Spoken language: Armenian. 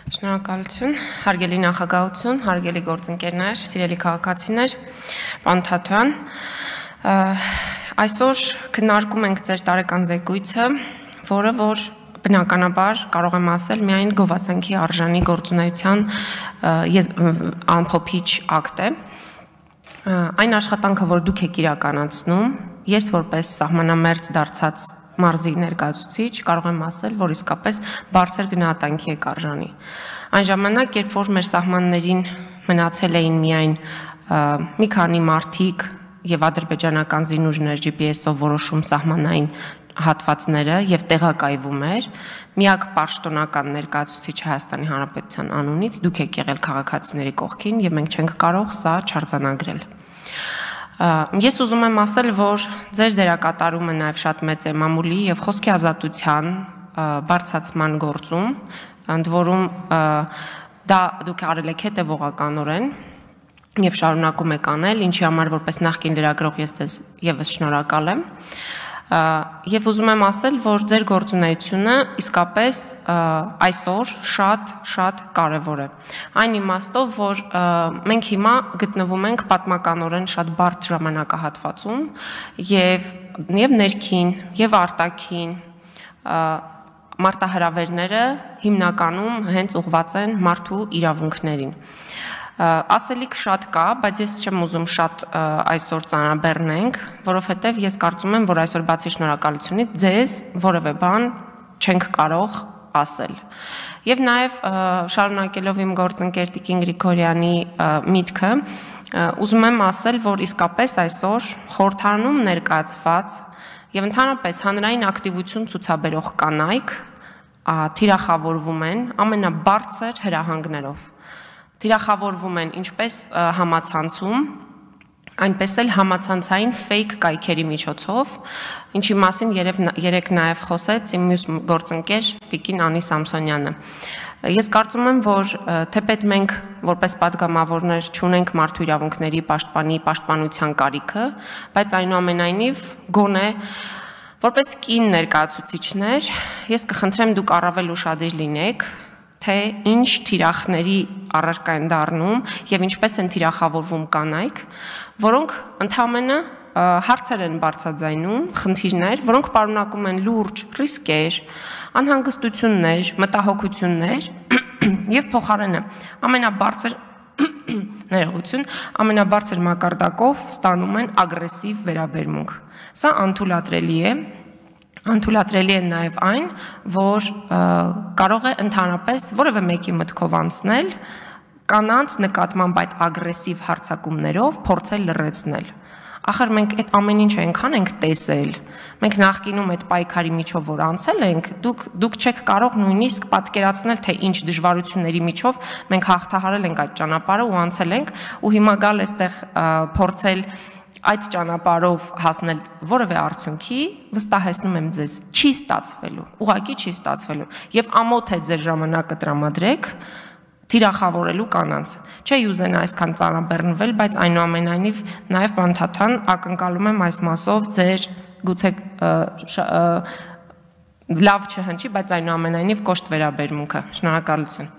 Շնորհակալություն, հարգելի նախագահություն, հարգելի գործընկերներ, սիրելի քաղաքացիներ, պարոն Թաթոյան, այսօր քննարկում ենք ձեր տարեկան զեկույցը, որը որ բնականաբար կարող եմ ասել միայն գովասանքի արժանի գործունեության ամփոփիչ ակտ է։ Այն աշխատանքը, որ դուք եք իրականացնում, ես որպես սահմանամերձ դարձած մարզի ներկայացուցիչ կարող եմ ասել, որ իսկապես բարձր գնահատանքի եք արժանի։ Այն ժամանակ, երբ որ մեր սահմաններին մնացել էին միայն մի քանի մարդիկ եւ ադրբեջանական զինուժներ GPS-ով որոշում սահմանային հատվածները եւ տեղակայվում էր, միակ պաշտոնական ներկայացուցիչ Հայաստանի Հանրապետության անունից դուք եք եղել քաղաքացիների կողքին եւ մենք չենք կարող սա չարձանագրել։ Ես ուզում եմ ասել, որ ձեր դերակատարումը նաև շատ մեծ է մամուլի եւ խոսքի ազատության բարձրացման գործում, ընդ որում դա դուք արել եք հետևողականորեն եւ շարունակում եք անել, ինչի համար որպես նախկին լրագրող ես ձեզ եւս շնորհակալ եմ։ Եվ ուզում եմ ասել, որ ձեր գործունեությունը իսկապես այսօր շատ կարևոր է։ Այն իմաստով, որ մենք հիմա գտնվում ենք պատմականորեն շատ բարդ ժամանակահատվածում եւ ներքին եւ արտաքին մարտահրավերները հիմնականում հենց ուղղված են մարդու իրավունքներին։ Ասելիք շատ կա, բայց ես չեմ ուզում շատ այսօր ծանրաբեռնենք, որովհետև ես կարծում եմ, որ այսօր բացի շնորհակալությունից ձեզ որևէ բան չենք կարող ասել։ Եվ նաև շարունակելով իմ գործընկեր Տիկին Գրիգորյանի միտքը, ուզում եմ ասել, որ իսկապես այսօր խորհրդարանում ներկայացված եւ ընդհանրապես հանրային ակտիվություն ցուցաբերող կանայք թիրախավորվում են ամենաբարձր հրահանգներով։ Թիրախավորվում են ինչպես համացանցում, այնպես էլ համացանցային fake կայքերի միջոցով, ինչի մասին երեք նաև խոսեց իմ մյուս գործընկեր Տիկին Անի Սամսոնյանը։ Ես կարծում եմ, որ թեպետ մենք որպես падգամավորներ չունենք մարդու իրավունքների պաշտպանության կարիքը, բայց այնուամենայնիվ գոնե որպես կին ներկայացուցիչներ, ես կխնդրեմ դուք առավել ուշադիր լինեք, թե ինչ թիրախների առարկա են դառնում եւ ինչպես են թիրախավորվում կանայք, որոնք ընդհանրապես հարցեր են բարձրաձայնում, խնդիրներ, որոնք պարունակում են լուրջ ռիսկեր, անհանգստություններ, մտահոգություններ եւ փոխարենը ամենաբարձր մակարդակով ստանում են ագրեսիվ վերաբերմունք։ Սա անթույլատրելի է։ Անթույլատրելի է նաև այն, որ կարող է ընդհանրապես որևէ մեկի մտքով անցնել կանանց նկատմամբ այդ ագրեսիվ հարձակումներով փորձել լռեցնել։ Ախր մենք այդ ամեն ինչը այնքան ենք տեսել, մենք նախկինում այդ պայքարի միջով որ անցել ենք, դուք չեք կարող նույնիսկ պատկերացնել, թե ինչ դժվարությունների միջով մենք հաղթահարել ենք այդ ճանապարհը ու անցել ենք, ու հիմա գալ այստեղ փորձել այդ ճանապարհով հասնել որևէ արդյունքի, վստահեցնում եմ ձեզ, չի ստացվելու, ուղղակի չի ստացվելու, եւ ամոթ է ձեր ժամանակը տրամադրեք թիրախավորելու կանանց։ Չէի ուզենա այսքան ծանրաբեռնվել, բայց այնուամենայնիվ նաև պարոն Թաթոյան ակնկալում եմ այս մասով ձեր գուցե լավ չհնչի, բայց այնուամենայնիվ կոշտ վերաբերմունքը։ Շնորհակալություն։